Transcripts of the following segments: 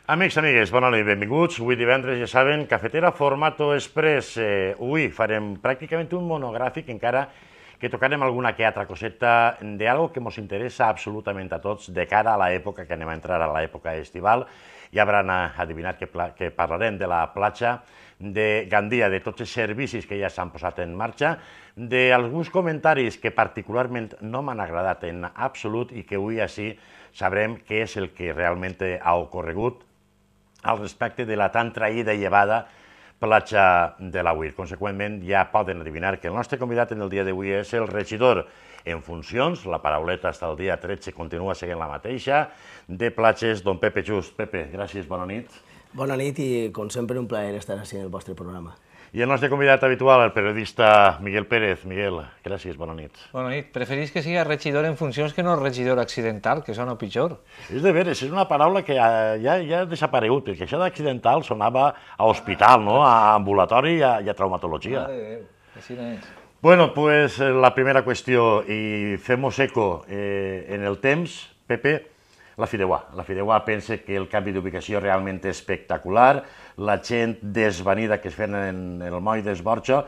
Amics, amigues, bona nit, benvinguts. Avui divendres, ja saben, Cafetera Formato Express. Avui farem pràcticament un monogràfic, encara que tocarem alguna que altra coseta d'algo que ens interessa absolutament a tots de cara a l'època que anem a entrar, a l'època estival. Ja hauran adivinat que parlarem de la platja de Gandia, de tots els servicis que ja s'han posat en marxa, d'alguns comentaris que particularment no m'han agradat en absolut i que avui així sabrem què és el que realment ha ocorregut al respecte de la tan traïda i llevada platja de l'Agüir. Conseqüentment, ja poden adivinar que el nostre convidat en el dia d'avui és el regidor en funcions, la parauleta fins al dia 13 continua seguint la mateixa, de platges, don Pepe Just. Pepe, gràcies, bona nit. Bona nit i, com sempre, un plaer estar així en el vostre programa. I el nostre convidat habitual, el periodista Miguel Pérez. Miguel, gràcies, bona nit. Bona nit. Preferís que sigui regidor en funcions que no regidor accidental, que sona pitjor. És de veres, és una paraula que ja ha desaparegut, perquè això d'accidental sonava a hospital, no? A ambulatori i a traumatologia. Mare de Déu, així no és. Bueno, pues la primera qüestió, i fem-nos eco en el temps, Pepe, la Fideuà. La Fideuà pensa que el canvi d'ubicació realment és espectacular, la gent desvanida que es feien en el moll d'Esborxo,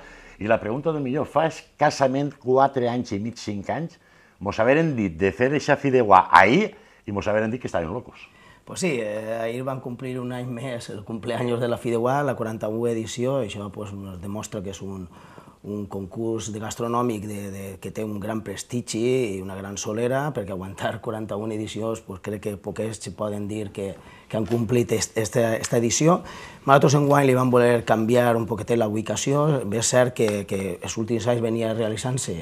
i la pregunta del millor, fa escassament 4 anys i mig, 5 anys, mos haveren dit de fer aquesta Fideuà ahir i mos haveren dit que estaven locos. Pues sí, ahir van complir un any més el cumpleaños de la Fideuà, la 41a edició, i això pues, ens demostra que és un concurs gastronòmic que té un gran prestigi i una gran solera, perquè aguantar 41 edicions pues, crec que poquets poden dir que han complit aquesta edició. Nosaltres enguany li vam voler canviar un poquetet la ubicació. És cert que els últims anys venia realitzant-se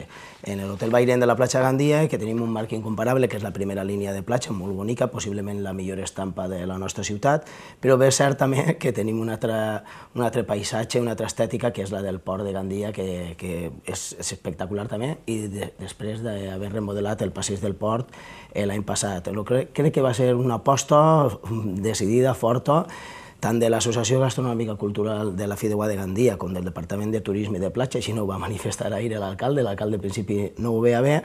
en l'Hotel Bairén de la platja Gandia i que tenim un marc incomparable, que és la primera línia de platja, molt bonica, possiblement la millor estampa de la nostra ciutat, però és cert també que tenim un altre paisatge, una altra estètica, que és la del port de Gandia, que és espectacular també, i després d'haver remodelat el passeig del port l'any passat. Crec que va ser una aposta decidida, forta, tant de l'Associació Gastronòmica Cultural de la Fideuà de Gandia com del Departament de Turisme i de Platja, així no ho va manifestar ahir l'alcalde al principi no ho veia bé.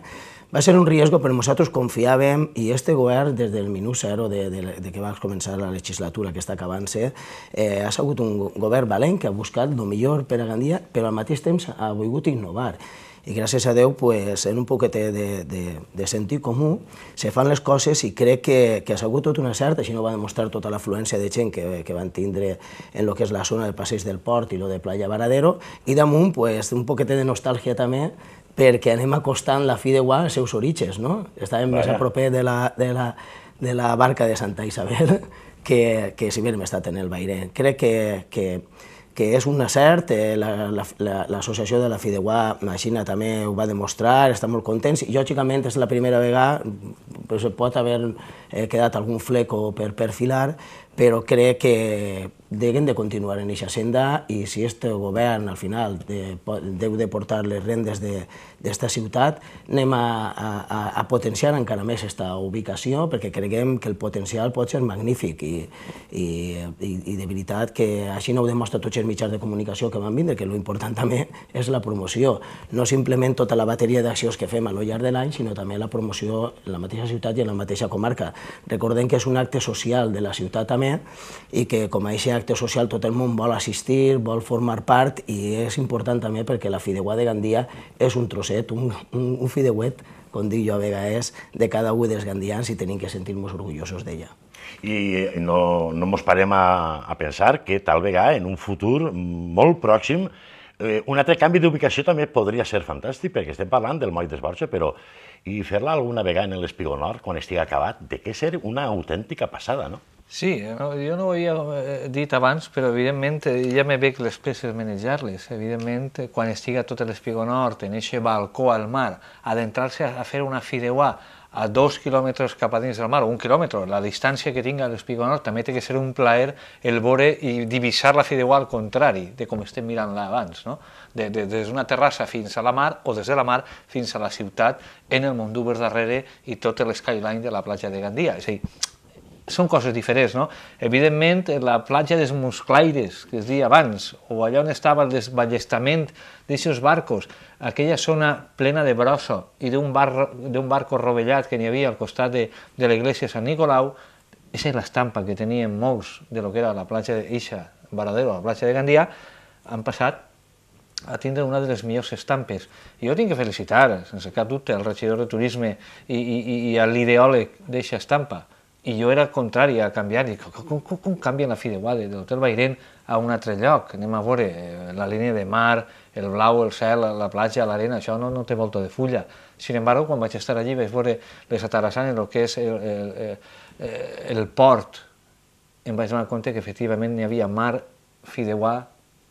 Va ser un riesgo, però nosaltres confiàvem, i este govern, des del minut zero de que va començar la legislatura que està acabant-se, ha sigut un govern valent que ha buscat el millor per a Gandia, però al mateix temps ha volgut innovar. I gràcies a Déu, en un poquetet de sentit comú, se fan les coses i crec que ha sigut tot una certa, així no va demostrar tota l'afluència de gent que van tindre en el que és la zona del passeig del port i lo de Playa Varadero, i damunt un poquetet de nostàlgia també, perquè anem acostant la Fideuà als seus orígens, no? Estàvem més a proper de la barca de Santa Isabel que si haguéssim estat en el Bairén. Crec que és un acert, l'associació de la Fideuà Maxina també ho va demostrar, està molt contents, i lògicament és la primera vegada, pot haver quedat algun fleco per perfilar, però crec que deuen de continuar en aquesta senda, i si este govern al final deu de portar les rendes d'esta ciutat, anem a potenciar encara més aquesta ubicació, perquè creiem que el potencial pot ser magnífic, i de veritat que així no ho demostra tots els mitjans de comunicació que van vindre, que l'important també és la promoció, no simplement tota la bateria d'accions que fem a lo llarg de l'any, sinó també la promoció en la mateixa ciutat i en la mateixa comarca. Recordem que és un acte social de la ciutat també, i que com a aquest acte social tot el món vol assistir, vol formar part, i és important també perquè la Fideuà de Gandia és un trosset, un fideuet, com dic jo a vegades, de cada un dels gandians, i tenim que sentir-nos orgullosos d'ella. I no ens parem a pensar que tal vegada en un futur molt pròxim un altre canvi d'ubicació també podria ser fantàstic, perquè estem parlant del moll d'Esborxo, però i fer-la alguna vegada en l'Espigó Nord, quan estigui acabat, de què ser una autèntica passada, no? Sí, jo no ho havia dit abans, però evidentment ja me veig les peces manejar-les. Evidentment, quan estiga tot l'Espigó Nord, en aquest balcó al mar, adentrar-se a fer una Fideuà a 2 quilòmetres cap a dins del mar, o 1 quilòmetre, la distància que tinga l'Espigó Nord, també té que ser un plaer el veure i divisar la Fideuà al contrari de com estem mirant-la abans, no? Des d'una terrassa fins a la mar, o des de la mar fins a la ciutat, en el Mondúber darrere i tot l'skyline de la platja de Gandia. És a dir, són coses diferents, no? Evidentment, la platja dels Musclaires, que es deia abans, o allà on estava el desballestament d'aquests barcos, aquella zona plena de brossa i d'un barco rovellat que n'hi havia al costat de l'església de Sant Nicolau, Aquesta és l'estampa que tenien molts de lo que era la platja d'Ixa, Varadero, la platja de Gandia, han passat a tindre una de les millors estampes. I jo tinc que felicitar, sense cap dubte, al regidor de turisme i a l'ideòleg d'eixa estampa. I jo era contrari a canviar, i com canvien la Fideuà de l'Hotel Bairén a un altre lloc? Anem a veure la línia de mar, el blau, el cel, la platja, l'arena, això no té volta de fulla. Sin embargo, quan vaig estar allí vaig veure les atarassanes, el que és el port, em vaig donar compte que efectivament hi havia mar, Fideuà,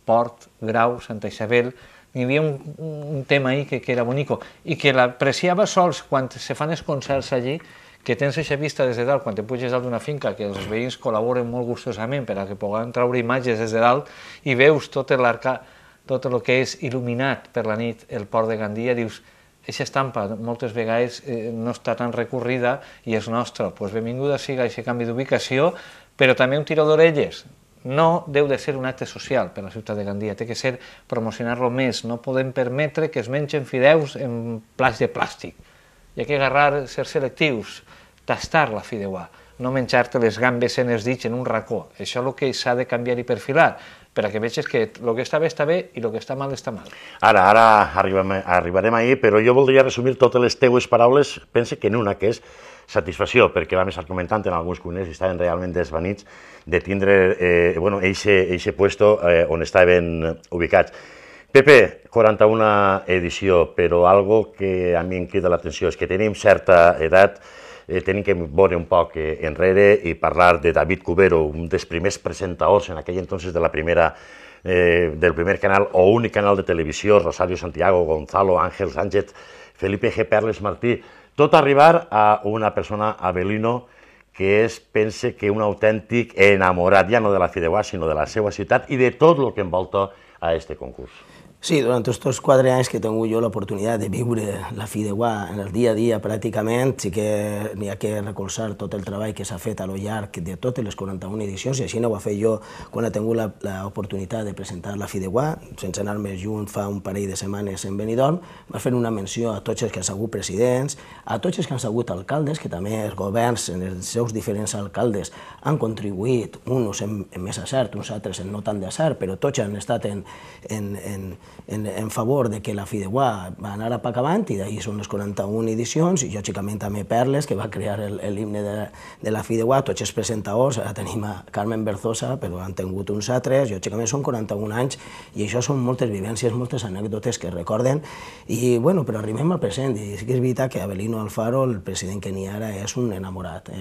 Port, Grau, Santa Isabel, hi havia un tema ahí que era bonico i que l'apreciava sols quan se fan els concerts allí, que tens aquesta vista des de dalt, quan te puges dalt d'una finca, que els veïns col·laboren molt gustosament per a que puguem treure imatges des de dalt i veus tot el que és il·luminat per la nit el port de Gandia, dius, aquesta estampa moltes vegades no està tan recorrida i és nostra. Doncs benvinguda siga aquest canvi d'ubicació, però també un tiró d'orelles. No deu de ser un acte social per a la ciutat de Gandia, té que ser promocionar-lo més. No podem permetre que es mengen fideus en plats de plàstic. Hi ha que agarrar, ser selectius, tastar la fideuà, no menjar-te les gambes en els dits en un racó. Això és el que s'ha de canviar i perfilar, per a que vegis que el que està bé i el que està mal està mal. Ara arribarem ahir, però jo voldria resumir totes les teues paraules, pense que en una, que és satisfacció, perquè vam estar comentant en alguns cuiners i estaven realment desvanits de tindre eixe puesto on estaven ubicats. Pepe, 41 edició, però algo que a mi em crida l'atenció és que tenim certa edat, tenim que veure un poc enrere i parlar de David Cubero, un dels primers presentadors en aquell entonces del primer canal o únic canal de televisió, Rosario Santiago, Gonzalo, Ángel Sánchez, Felipe G. Perles Martí, tot arribar a una persona, Avelino, que és, pense que un autèntic enamorat, ja no de la Fideuà, sinó de la seva ciutat i de tot el que envolta a este concurs. Sí, durant aquests 4 anys que he tingut jo l'oportunitat de viure la Fideuà en el dia a dia pràcticament, sí que n'hi ha que recolzar tot el treball que s'ha fet a lo llarg de totes les 41 edicions, i així ho va fer jo quan he tingut l'oportunitat de presentar la Fideuà, sense anar més junt fa un parell de setmanes en Benidorm. Va fer una menció a tots els que han sigut presidents, a tots els que han sigut alcaldes, que també els governs, els seus diferents alcaldes, han contribuït, uns amb més acert, uns altres amb no tant d'acert, però tots han estat en favor de que la Fideuà va anar a poc avant, i d'ahir són les 41 edicions, i lògicament també Perles, que va crear l'himne de la Fideuà, tots els presentadors, ara tenim a Carmen Berzosa, però han tingut uns altres, lògicament són 41 anys, i això són moltes vivències, moltes anècdotes que recorden, i bueno, però arribem al present, i sí que és veritat que Avelino Alfaro, el president que n'hi ha ara, és un enamorat.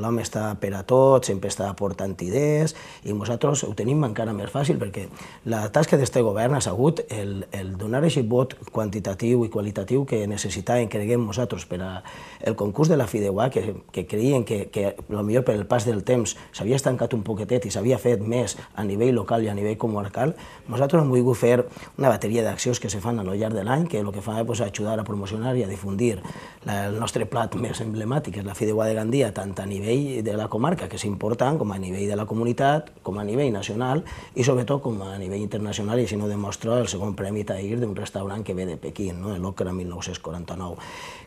L'home està per a tot, sempre està aportant idees, i nosaltres ho tenim encara més fàcil, perquè la tasca d'aquest govern ha sigut el donar aquest vot quantitatiu i qualitatiu que necessitàvem, creguem nosaltres, per al concurs de la Fideuà, que creien que potser per el pas del temps s'havia estancat un poquetet i s'havia fet més a nivell local i a nivell comarcal. Nosaltres hem volgut fer una bateria d'accions que se fan a lo llarg de l'any, que el que fa és ajudar a promocionar i a difundir el nostre plat més emblemàtic, que és la Fideuà de Gandia, tant a nivell de la comarca, que és important, com a nivell de la comunitat, com a nivell nacional i sobretot com a nivell internacional, i així no demostra el segon premi Tahir d'un restaurant que ve de Pequín, l'Òcra 1949.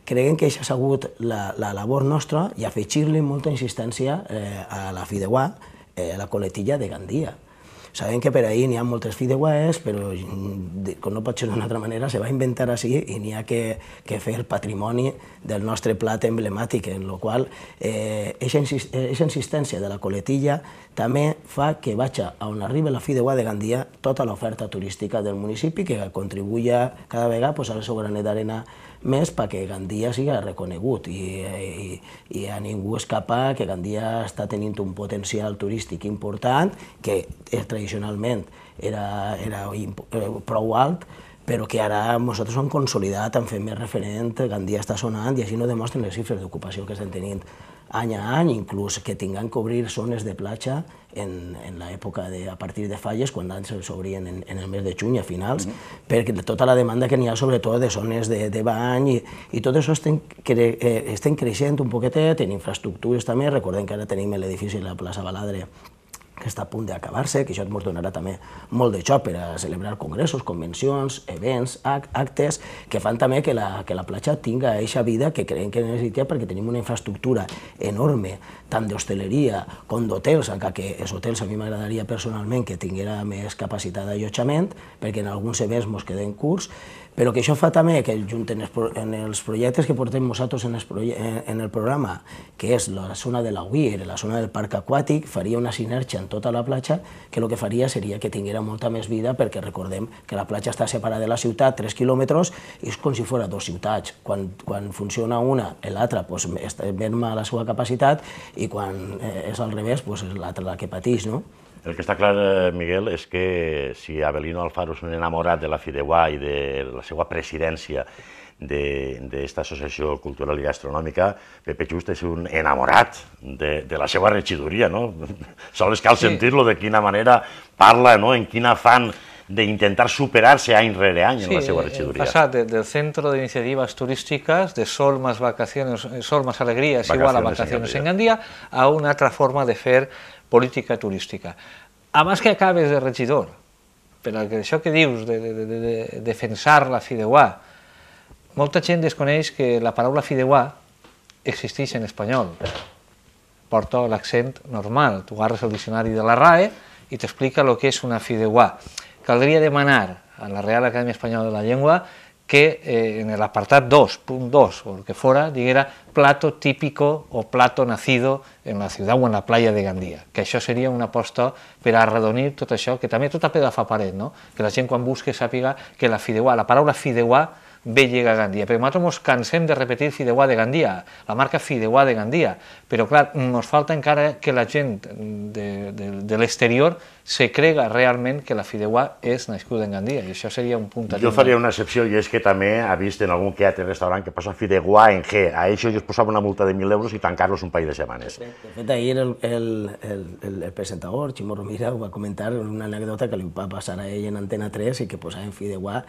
Creiem que això ha sigut la labor nostra i afegir-li molta insistència a la Fideuà, a la coletilla de Gandia. Sabem que per ahir n'hi ha moltes fideuàs, però com no pot ser d'una altra manera, se va inventar així i n'hi ha que fer patrimoni del nostre plat emblemàtic, en el qual aquesta insistència de la coletilla també fa que vagi a on arriba la Fideuà de Gandia tota l'oferta turística del municipi, que contribuïa cada vegada a el seu granet d'arena més perquè Gandia siga reconegut i a ningú escapa que Gandia està tenint un potencial turístic important, que tradicionalment era prou alt, però que ara nosaltres hem consolidat, hem fet més referent, Gandia està sonant, i així no demostren les xifres d'ocupació que estem tenint any a any, inclús que tinguem que obrir zones de platja en l'època a partir de falles, quan s'obrien en el mes de juny a finals, perquè tota la demanda que n'hi ha sobretot de zones de bany, i tot això estem creixent un poquetet, en infraestructures també. Recordem que ara tenim l'edifici de la plaça Baladre, que que està a punt d'acabar-se, que això ens donarà també molt de joc per a celebrar congressos, convencions, events, actes, que fan també que la platja tinga aquesta vida que creiem que necessita, perquè tenim una infraestructura enorme, tant d'hostaleria com d'hotels, encara que els hotels a mi m'agradaria personalment que tinguera més capacitat d'allotjament, perquè en alguns events ens queden curts, però que això fa també que en els projectes que portem nosaltres en el programa, que és la zona de la UIR, la zona del parc aquàtic, faria una sinergia en tota la platja, que el que faria seria que tinguera molta més vida, perquè recordem que la platja està separada de la ciutat 3 quilòmetres i és com si fos dues ciutats. Quan funciona una, l'altra merma la seva capacitat, i quan és al revés, és l'altra la que pateix, no? El que està clar, Miguel, és que si Avelino Alfaro és un enamorat de la Fideuà i de la seva presidència d'esta associació cultural i gastronòmica, Pepe Just és un enamorat de la seva regidoria, no? Sols cal sentir-lo, de quina manera parla, no? En quin afán d'intentar superar-se any rere any en la seva regidoria. Sí, passat del Centro de Iniciativas Turísticas, de Sol más Alegrías igual a Vacaciones en Gandía, a una altra forma de fer política turística. Abans que acabes de regidor, per això que dius de defensar la Fideuà, molta gent desconeix que la paraula Fideuà existeix en espanyol. Porta l'accent normal, tu agarres el diccionari de la RAE i t'explica el que és una Fideuà. Caldria demanar a la Real Acadèmia Espanyola de la Llengua que en el apartat 2.2 o el que fora diguera plato típico o plato nacido en la ciutat o en la playa de Gandía, que això seria una aposta per a arredonir tot això, que també tot a pedaç fa paret, no? Que la gent quan busque sàpiga que la Fideuà, la paraula Fideuà ve llega a Gandía, però nosaltres ens cansem de repetir Fideuà de Gandía, la marca Fideuà de Gandía, però clar, ens falta encara que la gent de l'exterior se crega realment que la Fideuà és nascuda en Gandía, i això seria un punt... Jo faria una excepció, i és que també ha vist en algun que altre restaurant que posa Fideuà en G, a això jo es posava una multa de 1.000 euros i tancar-los un parell de setmanes. De fet, ahir el presentador, Ximo Romira, ho va comentar una anècdota que li va passar a ell en Antena 3 i que posaven Fideuà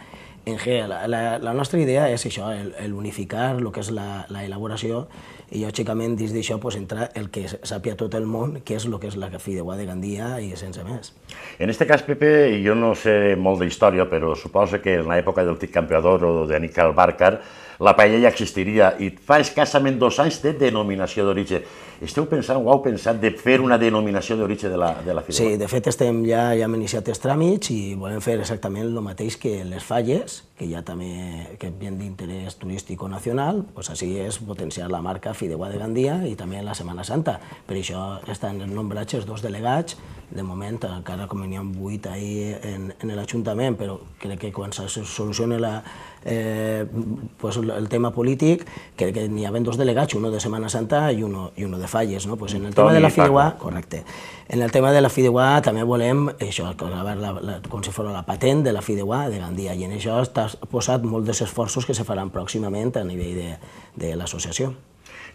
en G. La nostra idea és això, unificar el que és l'elaboració, i lògicament dins d'això entrar el que sàpia tot el món, que és el que és la Fideuà de Gandía i sense més. En aquest cas, Pepe, jo no sé molt d'història, però suposo que en l'època del Tic Campeador o d'Aníbal Bárcar la paella ja existiria, i fa escassament 2 anys de denominació d'origen. Esteu pensant, o heu pensat, de fer una denominació d'origen de la Fideuà? Sí, de fet ja hem iniciat els tràmits i volem fer exactament el mateix que les Falles, que ja també venen d'interès turístic o nacional, doncs així és potenciar la marca Fideuà de Gandía i també la Setmana Santa. Per això estan nombrats els 2 delegats, de moment encara com n'hi ha 8 ahir en l'Ajuntament, però crec que quan se soluciona el tema polític, crec que n'hi ha 2 delegats, un de Setmana Santa i un de Falles. En el tema de la Fideuà, correcte. En el tema de la Fideuà també volem això, com si fos la patent de la Fideuà de Gandía, i en això està posat molts dels esforços que se faran pròximament a nivell de l'associació.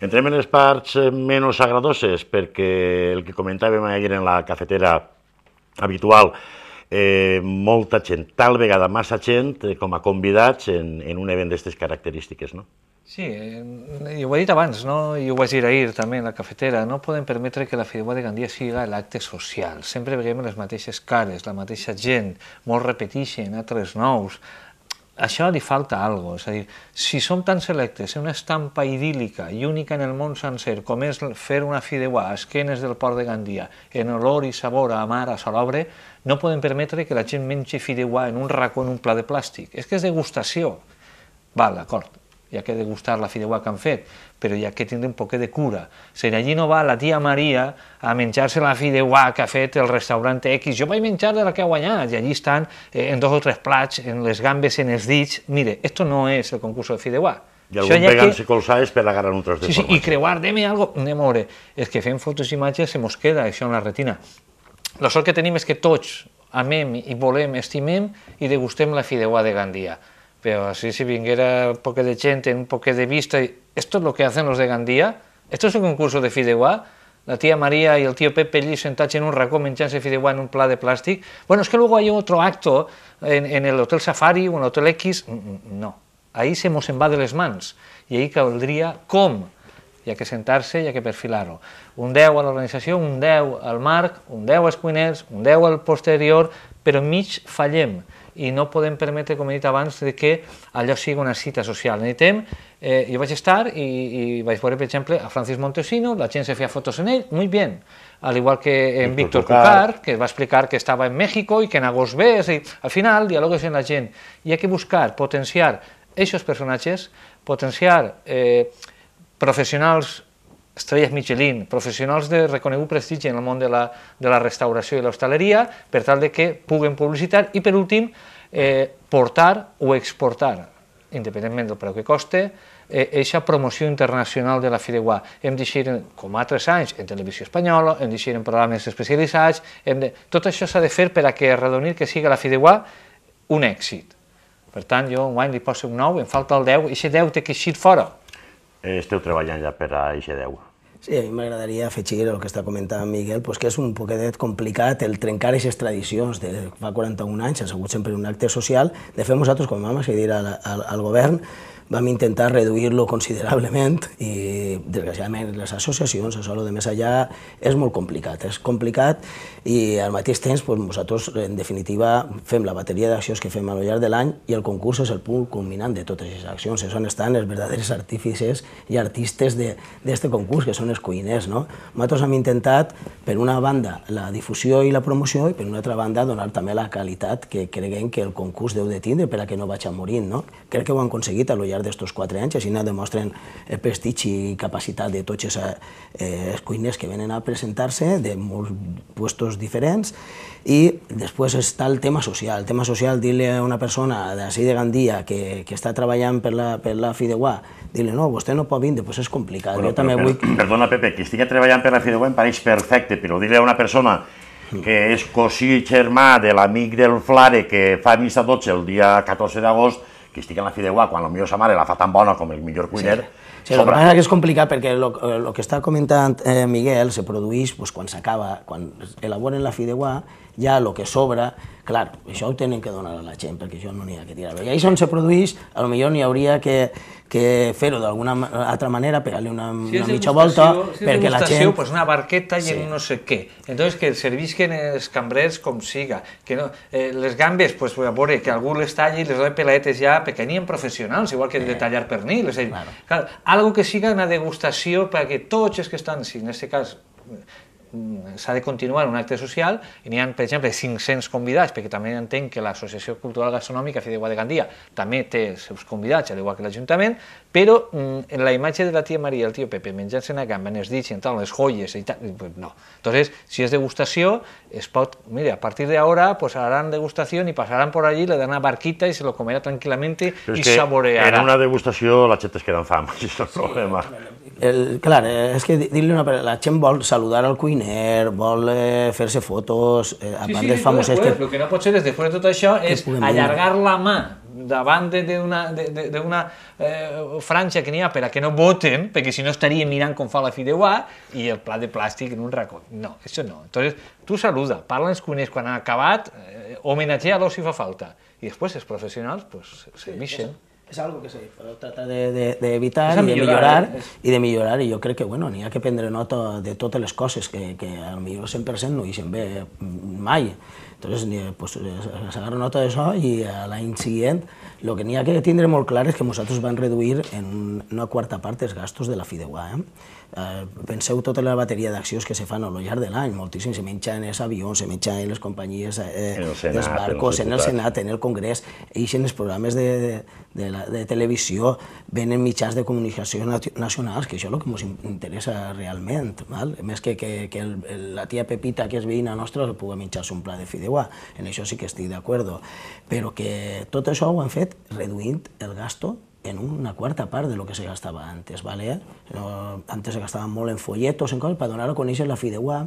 Entrem en les parts menys agradoses, perquè el que comentàvem ahir en la cafetera habitual, molta gent, tal vegada massa gent com a convidats en un event d'aquestes característiques, no? Sí, i ho he dit abans, i ho vaig dir ahir també en la cafetera, no podem permetre que la Fideuà de Gandía sigui l'acte social. Sempre veiem les mateixes cares, la mateixa gent, molts repeteixen, altres nous. Això li falta alguna cosa, és a dir, si som tan selectes en una estampa idíl·lica i única en el món sencer, com és fer una Fideuà a esquenes del port de Gandía, en olor i sabor a mar, a salobre, no podem permetre que la gent mengi Fideuà en un racó, en un pla de plàstic. És que és degustació. Val, d'acord, hi ha que degustar la Fideuà que han fet, però hi ha que tindre un poquet de cura. Si allí no va la tia Maria a menjar-se la Fideuà que ha fet el restaurant X, jo vaig menjar de la que ha guanyat, i allí estan en 2 o 3 plats, en les gambes, en els dits. Mire, esto no es el concurso de Fideuà. I algun pegant-se colzades per agarrar un tros de formatge. Sí, i creuar, deme algo, anem a veure. És que fem fotos i imatges, se mos queda això en la retina. La sort que tenim és que tots amem i volem, estimem i degustem la Fideuà de Gandía. Pero así si viniera un poco de gente, un poco de vista, ¿esto es lo que hacen los de Gandía? ¿Esto es el concurso de Fideuà? La tía María y el tío Pepe allí sentados en un racó menjándose Fideuà en un plat de plástico. Bueno, es que luego hay otro acto en el Hotel Safari o en el Hotel X. No, ahí se mos en va de les mans. I ahí caldria com hi ha que sentar-se, hi ha que perfilar-ho. Un 10 a l'organització, un 10 al marc, un 10 als cuiners, un 10 al posterior, però enmig fallem i no podem permetre, com he dit abans, que allò sigui una cita social. Jo vaig estar i vaig veure, per exemple, a Francis Montesino, la gent se feia fotos en ell, muy bien, al igual que en Víctor Cucar, que va explicar que estava en México i que en agost ve, al final dialogues amb la gent. Hi ha que buscar, potenciar aquests personatges, potenciar professionals, estrelles Michelin, professionals de reconegut prestigi en el món de la restauració i l'hostaleria, per tal de que puguen publicitar i, per últim, portar o exportar, independentment del preu que coste, aquesta promoció internacional de la Fideuà. Hem d'eixir, com altres anys, en televisió espanyola, hem d'eixir en programes especialitzats, tot això s'ha de fer per a que arredonir que sigui la Fideuà un èxit. Per tant, jo enguany li poso un 9, em falta el 10, i aquest 10 té que eixir fora. Esteu treballant ja per a aquest 10. Sí, a mi m'agradaria afegir el que està comentant Miguel, que és un poquetet complicat el trencar aquestes tradicions de fa 41 anys, ha sigut sempre un acte social. De fet, nosaltres, com vam accedir al govern, vam intentar reduir-lo considerablement i, desgraciadament, les associacions, això de més allà, és molt complicat. És complicat i, al mateix temps, nosaltres, en definitiva, fem la bateria d'accions que fem al llarg de l'any i el concurs és el punt culminant de totes aquestes accions. És on estan els verdaders artífices i artistes d'aquest concurs, que són els cuiners. Nosaltres hem intentat, per una banda, la difusió i la promoció i, per una altra banda, donar també la qualitat que creguem que el concurs deu de tindre per a que no vagi morint. Crec que ho han aconseguit al llarg d'estos 4 anys, així demostren el prestigi i capacitat de tots els cuiners que venen a presentar-se de molts puestos diferents. I després està el tema social. El tema social, dir-li a una persona d'ací de Gandia que està treballant per la Fideuà, dir-li, no, vostè no pot vindre, doncs és complicat. Perdona, Pepe, que estigui treballant per la Fideuà em pareix perfecte, però dir-li a una persona que és cosí germà de l'amic del Flare que fa missa 12 el dia 14 d'agost, que estigui en la Fideuà quan potser sa mare la fa tan bona com el millor cuiner. Sí, el que passa és que és complicat perquè el que està comentant Miguel se produeix quan s'acaba, quan elaboren la Fideuà, ja el que sobra, clar, això ho tenen que donar a la gent perquè això no n'hi ha que tirar. I ahí on se produeix, potser n'hi hauria que fer-ho d'alguna altra manera, pegar-li una mitja volta, perquè la gent... Pues una barqueta i en no sé què. Entonces, que servisquen els cambrers com siga. Les gambes, pues a veure, que algú les talli i les doni peladetes ja pequeños professionals, igual que de tallar pernil. Algo que siga una degustació perquè tots els que estan, si en aquest cas s'ha de continuar un acte social, i n'hi ha, per exemple, 500 convidats, perquè també entenc que l'Associació Cultural Gastronòmica Fideuà de Gandia també té els seus convidats, al igual que l'Ajuntament, però en la imatge de la tia Maria i el tio Pepe menjant-se una gamba, en els dits i en tal, les joies i tal, no. Entonces, si és degustació, es pot, mira, a partir de ahora, pues harán degustación y pasarán por allí, le dan una barquita y se lo comerá tranquilamente y saboreará. En una degustació la gent es queda amb fam, això és el problema. Clar, és que dir-li la gent vol saludar al cuiner, vol fer-se fotos, a part dels famosos... Sí, el que no pot ser és, després de tot això, és allargar la mà davant d'una franja que n'hi ha per a que no voten, perquè si no estaríem mirant com fa la Fideuà i el plat de plàstic en un racó. No, això no. Entonces, tu saluda, parla als cuiners quan han acabat, homenatgea-los si fa falta. I després els professionals, pues, serveixen. És algo que se trata d'evitar i de millorar, i jo crec que n'hi ha que prendre nota de totes les coses que potser 100% no hi ve mai. Entonces, s'agarra nota d'això i l'any següent el que n'hi ha que tindre molt clar és que nosaltres vam reduir en una quarta part els gastos de la Fideuà. Penseu tota la bateria d'accions que se fan al llarg de l'any, moltíssim, se menja en els avions, se menja en les companyies dels barcos, en el Senat, en el Congrés, i en els programes de televisió, venen mitjans de comunicació nacionals, que això és el que ens interessa realment, més que la tia Pepita, que és veïna nostra, pugui menjar-se un plat de Fideuà, en això sí que estic d'acord, però que tot això ho han fet reduint el gasto en una quarta part de lo que se gastava antes, ¿vale? Antes se gastava molt en folletos, en coses, per donar a conèixer la Fideuà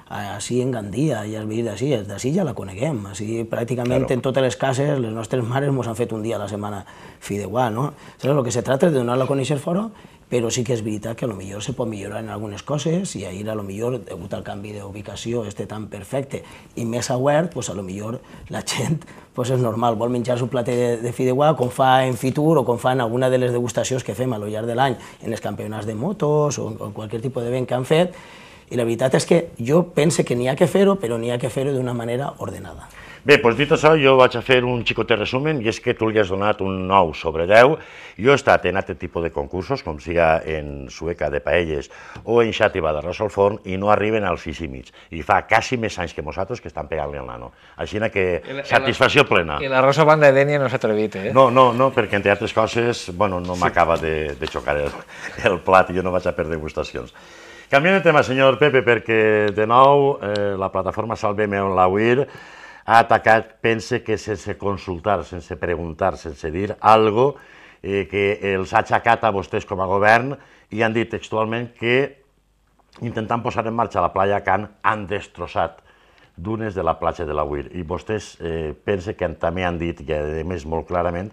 així en Gandia, ja has vist d'ací ja la coneguem, així pràcticament en totes les cases les nostres mares ens han fet un dia a la setmana fideuà, no? El que se tracta és de donar-la a conèixer fora, però sí que és veritat que potser se pot millorar en algunes coses i ahir potser, degut al canvi d'ubicació tan perfecte i més obert, potser la gent és normal, vol menjar-se un plat de fideuà com fa en Fitur o com fa en alguna de les degustacions que fem a lo llarg de l'any en els campionats de motos o en qualsevol tipus d'event que han fet. I la veritat és que jo pense que n'hi ha que fer-ho, però n'hi ha que fer-ho d'una manera ordenada. Bé, doncs dit això, jo vaig a fer un xicotet resumen, i és que tu li has donat un 9 sobre 10. Jo he estat en aquest tipus de concursos, com siga en Sueca de paelles o en Xàtiva d'arròs al forn, i no arriben als 6,5. I fa quasi més anys que nosaltres que estan pegant-li el nano. Així que satisfacció plena. I l'arròs a banda de Dènia no s'ha atrevit, eh? No, perquè entre altres coses, bueno, no m'acaba de xocar el plat i jo no vaig a per degustacions. Canviant de tema, senyor Pepe, perquè de nou la plataforma Salvem el Laüir ha atacat, pense que sense consultar, sense preguntar, sense dir algo que els ha aixecat a vostès com a govern i han dit textualment que intentant posar en marxa la playa Can han destrossat dunes de la platja de l'Aguir. I vostès pense que també han dit, i a més molt clarament,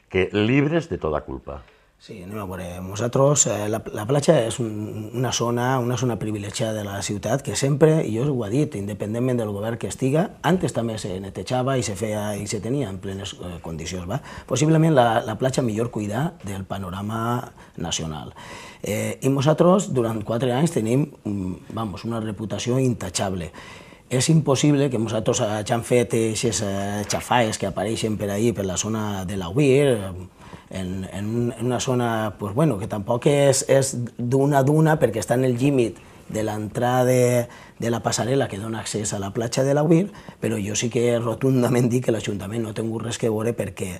que llibres de tota culpa. Sí, anem a veure, nosaltres, la platja és una zona privilegiada de la ciutat que sempre, i jo ho he dit, independentment del govern que estiga, antes també se netejava i se feia i se tenia en plenes condicions. Possiblement la platja millor cuidar del panorama nacional. I nosaltres, durant 4 anys, tenim una reputació intachable. És impossible que nosaltres hagin fet aquestes xafaes que apareixen per ahí, per la zona de l'Aguir, en una zona que tampoc és d'una duna perquè està en el límit de l'entrada de la passarel·la que dona accés a la platja de l'Aguir, però jo sí que rotundament dic que l'Ajuntament no ha tingut res que veure perquè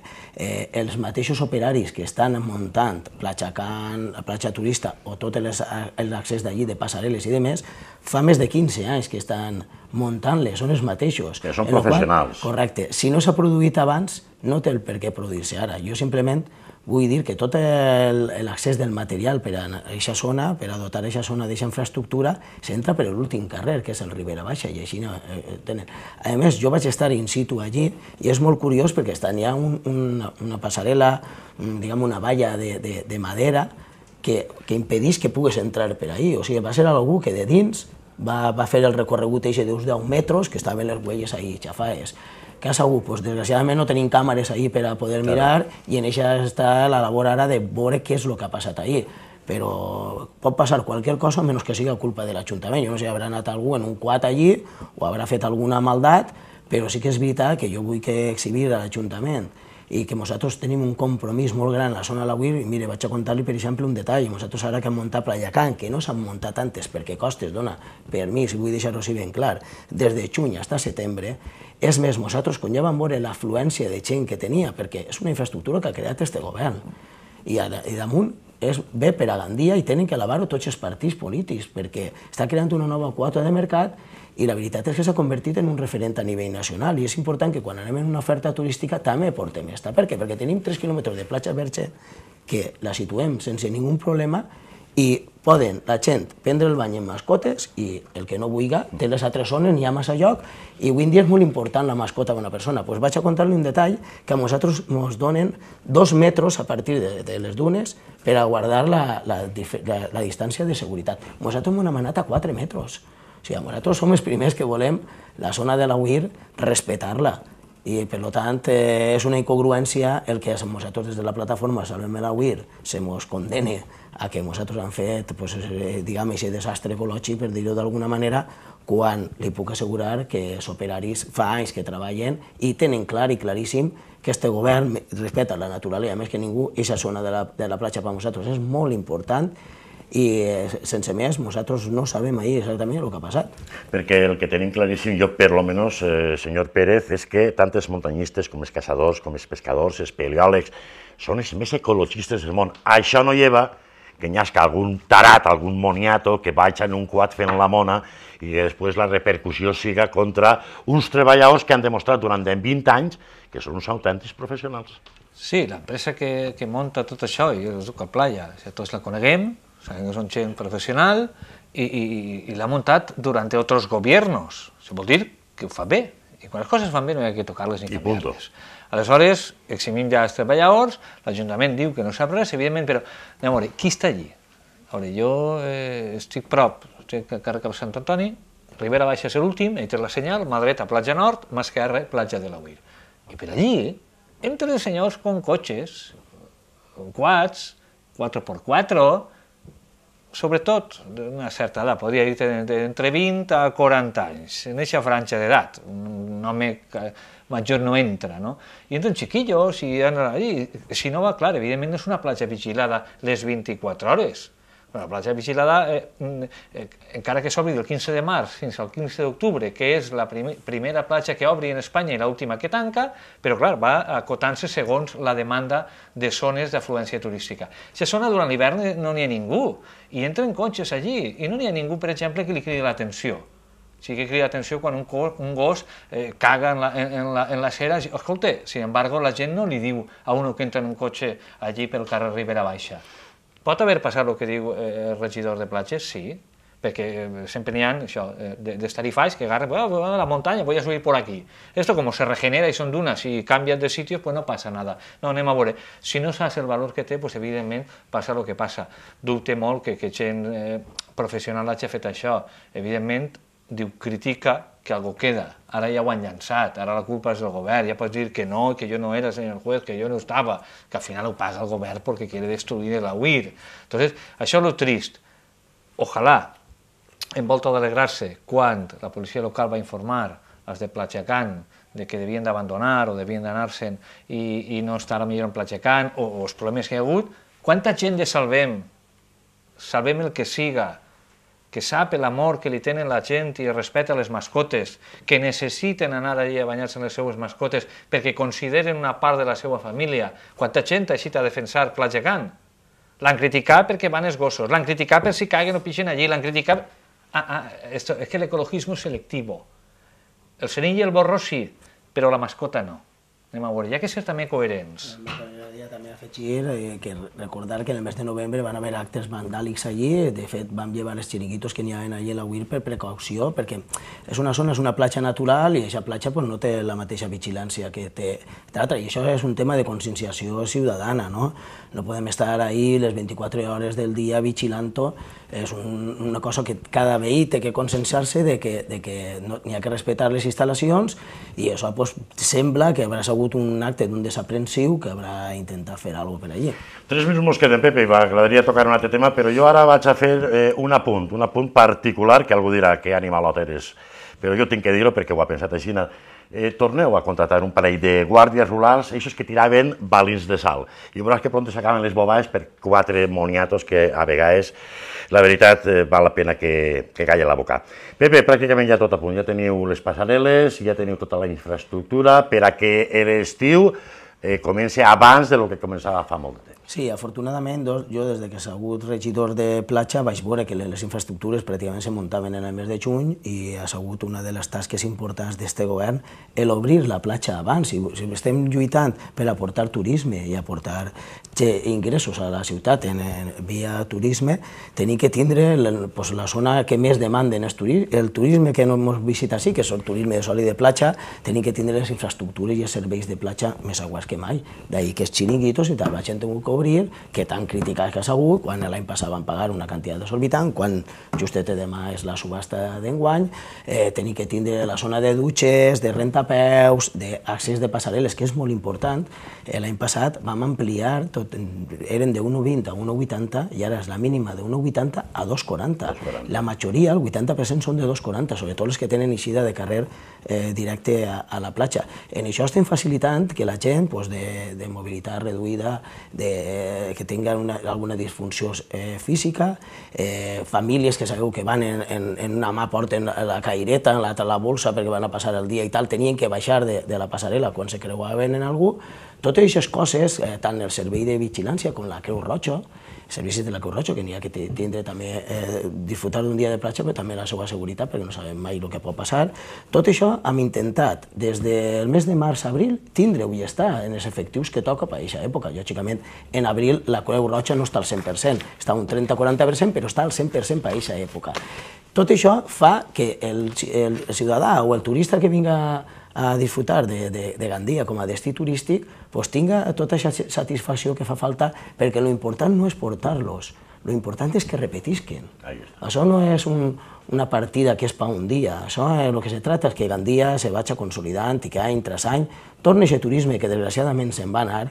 els mateixos operaris que estan muntant platja Can, la platja turista o tot l'accés d'allí de passarel·les i demés, fa més de 15 anys que estan muntant-les, són els mateixos. Que són professionals. Correcte. Si no s'ha produït abans, no té el per què produir-se ara. Jo simplement vull dir que tot l'accés del material per a aquesta zona, per a dotar aquesta zona d'aquesta infraestructura, s'entra per l'últim carrer, que és el Ribera Baixa, i així tenen. A més, jo vaig estar in situ allí, i és molt curiós perquè hi ha una passarel·la, diguem una valla de madera, que impedeix que puguis entrar per ahí. O sigui, va ser algú que de dins va fer el recorregut d'uns 10 metres, que estaven les huelles ahí, xafaes. Què ha sigut? Desgraciadament no tenim càmeres ahí per a poder mirar i en això està la labor ara de veure què és el que ha passat ahí. Però pot passar qualsevol cosa menys que sigui culpa de l'Ajuntament. Jo no sé si haurà anat algú en un quad allí o haurà fet alguna maldat, però sí que és veritat que jo vull que exhibir a l'Ajuntament i que nosaltres tenim un compromís molt gran a la zona de l'Aguir. I mire, vaig a contar-li, per exemple, un detall. Nosaltres ara que hem muntat Playa Can, que no s'han muntat antes perquè costes dona permís, i vull deixar-ho així ben clar, des de juny fins a setembre. És més, nosaltres, quan ja vam veure l'afluència de gent que tenia, perquè és una infraestructura que ha creat este govern, i damunt ve per a Gandia i tenen que alabar-ho tots els partits polítics, perquè està creant una nova quota de mercat i la veritat és que s'ha convertit en un referent a nivell nacional i és important que quan anem en una oferta turística també portem esta. Per què? Perquè tenim 3 quilòmetres de platja verge que la situem sense ningú problema i poden la gent prendre el bany en mascotes i el que no vulgui té les altres zones, n'hi ha massa lloc i avui en dia és molt important la mascota d'una persona. Doncs vaig a contar-li un detall que a nosaltres ens donen 2 metres a partir de les dunes per a guardar la distància de seguretat. Nosaltres hem demanat a 4 metres. O sigui, nosaltres som els primers que volem la zona de l'Aguir respectar-la. I, per tant, és una incongruència el que nosaltres des de la plataforma Salvem l'Aguir se mos condene a que nosaltres hem fet, diguem, aquest desastre ecològic, per dir-ho d'alguna manera, quan li puc assegurar que els operaris fa anys que treballen i tenen clar i claríssim que este govern respecta la naturalesa, més que ningú, aquesta zona de la platja per nosaltres és molt important i sense més nosaltres no sabem ahir exactament el que ha passat. Perquè el que tenim claríssim, jo per lo menos, senyor Pérez, és que tant els muntanyistes com els caçadors, com els pescadors, els paleòlegs, són els més ecologistes del món. Això no lleva que n'hi hagi algun tarat, algun moniato que vagi en un quad fent la mona i després la repercussió siga contra uns treballadors que han demostrat durant 20 anys que són uns autèntics professionals. Sí, l'empresa que munta tot això, i jo us dic a Playa, tots la coneguem, sabem que són gent professional y la ha montado durante otros gobiernos. Se vol dir que ho fa bé, i quan les coses van bé no hi ha que tocar-les ni canviar-les. Aleshores, eximim ja els treballadors, l'Ajuntament diu que no sap res, evidentment, però anem a veure, qui està allí? A veure, jo estic prop, estic a carrer de Sant Antoni, Ribera Baixa és l'últim, he tret la senyal, mà dreta, platja nord, mà esquerra, platja de la Uir. I per allí, entre els senyors con cotxes, con quads, 4x4, sobretot d'una certa edat, podria dir entre 20 a 40 anys, en aquesta franja d'edat, un home major no entra, no? I entren xiquillos i allí, si no va, clar, evidentment no és una platja vigilada les 24 hores. La platja vigilada, encara que s'obri del 15 de març fins al 15 d'octubre, que és la primera platja que obri en Espanya i l'última que tanca, però clar, va acotant-se segons la demanda de zones d'afluència turística. Si a zona durant l'hivern no n'hi ha ningú, i entren cotxes allí, i no n'hi ha ningú, per exemple, que li cridi l'atenció. Sí que crida l'atenció quan un gos caga en la cera. Escolta, sin embargo, la gent no li diu a un que entra en un cotxe allí pel carrer Ribera Baixa. Pot haver passat el que diu el regidor de platges? Sí, perquè sempre n'hi ha d'estarifalls que agarren, voy a la montaña, voy a subir por aquí. Esto como se regenera y son dunas y cambian de sitios, pues no pasa nada. No, anem a veure. Si no saps el valor que té, pues evidentment passa el que passa. Dubte molt que gent professional hagi fet això. Evidentment, diu, critica que algo queda, ara ja ho han llançat, ara la culpa és del govern, ja pots dir que no, que jo no era senyor juez, que jo no estava, que al final ho paga el govern perquè quiere destruir la UIR. Entonces, això és lo trist. Ojalà, en volta d'alegrar-se, quan la policia local va informar els de Platjacán de que devien d'abandonar o devien d'anar-se'n i no estar millor en Platjacán, o els problemes que hi ha hagut, quanta gent de salvem el que siga, que sap l'amor que li tenen la gent i el respecte a les mascotes, que necessiten anar allí a banyar-se en les seues mascotes perquè consideren una part de la seva família. Quanta gent ha eixit a defensar Platjacán? L'han criticat perquè van els gossos, l'han criticat per si caguen o pixen allí, l'han criticat... és que l'ecologisme és selectiu. El conill i el borró sí, però la mascota no. Anem a veure, hi ha que ser també coherents. M'agradaria també afegir que recordar que en el mes de novembre van haver actes vandàlics allí, de fet vam llevar els xiringuitos que n'hi havia allí a la UIR per precaució, perquè és una zona, és una platja natural i aquesta platja no té la mateixa vigilància que té l'altra, i això és un tema de conscienciació ciutadana, no? No podem estar ahí les 24 hores del dia vigilant-ho, és una cosa que cada veí té que conscienciar-se de que n'hi ha que respectar les instal·lacions i això sembla que haurà sigut un acte d'un desaprensiu que haurà intentat fer alguna cosa per allí. 3 minuts mos queden, Pepe, i m'agradaria tocar un altre tema, però jo ara vaig a fer un apunt particular, que algú dirà que animalot eres, però jo tinc que dir-ho perquè ho ha pensat així. Torneu a contratar un parell de guàrdies rurals, aquests que tiraven balins de sal, i veuràs que pront s'acaben les bobades per 4 moniatos que a vegades, la veritat, val la pena que calla la boca. Pepe, pràcticament ja tot a punt, ja teniu les passarel·les, ja teniu tota la infraestructura per a que l'estiu comença abans del que començava fa molt de temps. Sí, afortunadament, jo des que he sigut regidor de platja vaig veure que les infraestructures pràcticament se muntaven en el mes de juny i ha sigut una de les tasques importants d'aquest govern l'obrir la platja abans. Si estem lluitant per aportar turisme i aportar ingressos a la ciutat via turisme, tenim que tindre la zona que més demanden el turisme que no hem visitat sí, que és el turisme de sol i de platja, tenim que tindre les infraestructures i els serveis de platja més aguats que mai. D'ahir que els xiringuitos i tal, la gent ha tingut que obrir, que tan criticats que ha sigut, quan l'any passat van pagar una quantitat desorbitant, quan justet demà és la subhasta d'enguany, tenim que tindre la zona de dutxes, de rentapeus, d'accés de passarel·les, que és molt important. L'any passat vam ampliar, eren de 1,20 a 1,80 i ara és la mínima de 1,80 a 2,40. La majoria, el 80%, són de 2,40, sobretot les que tenen eixida de carrer directe a la platja. En això estem facilitant que la gent de mobilitat reduïda, que tinguin alguna disfunció física, famílies que sabeu que van en una mà porten la caireta, en l'altra la bolsa perquè van a passar el dia i tal, tenien que baixar de la passarel·la quan se creuaven en algú, Totes aquestes coses, tant el servei de vigilància com la Creu Roja, servicis de la Creu Roja, que n'hi ha que tindre també disfrutar d'un dia de platja, però també la seva seguretat, perquè no sabem mai el que pot passar. Tot això hem intentat, des del mes de març-abril, tindre-ho i estar en els efectius que toca per a aquesta època. Lògicament, en abril la Creu Roja no està al 100%, està un 30-40%, però està al 100% per a aquesta època. Tot això fa que el ciutadà o el turista que vinga a disfrutar de Gandia com a destí turístic tinga tota aquesta satisfacció que fa falta, perquè l'important no és portar-los, l'important és que repetisquen. Això no és una partida que és per un dia, això el que se tracta és que Gandia se vagi consolidant i que any tras any torni aquest turisme que desgraciadament se'n va anar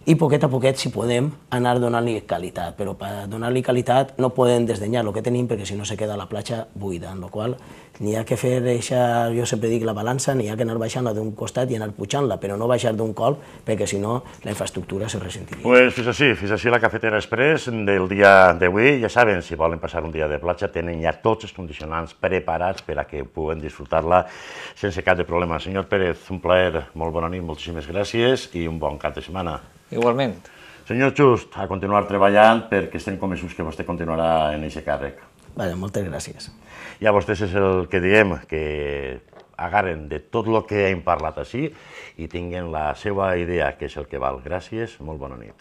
i poquet a poquet, si podem, anar donant-li qualitat, però per donar-li qualitat no podem desdenyar el que tenim perquè si no se queda la platja buida, en la qual n'hi ha que fer, jo sempre dic, la balança, n'hi ha que anar baixant-la d'un costat i anar pujant-la, però no baixar d'un colp perquè si no la infraestructura se ressentiria. Pues fins així la Cafetera Express del dia d'avui. Ja saben, si volen passar un dia de platja tenen ja tots els condicionants preparats per a que puguen disfrutar-la sense cap de problema. Senyor Pérez, un plaer, molt bona nit, moltíssimes gràcies i un bon cap de setmana. Igualment. Senyor Just, a continuar treballant perquè estem convençuts que vostè continuarà en aquest càrrec. Moltes gràcies. I a vostès és el que diem, que agarren de tot el que hem parlat així i tinguen la seva idea, que és el que val. Gràcies, molt bona nit.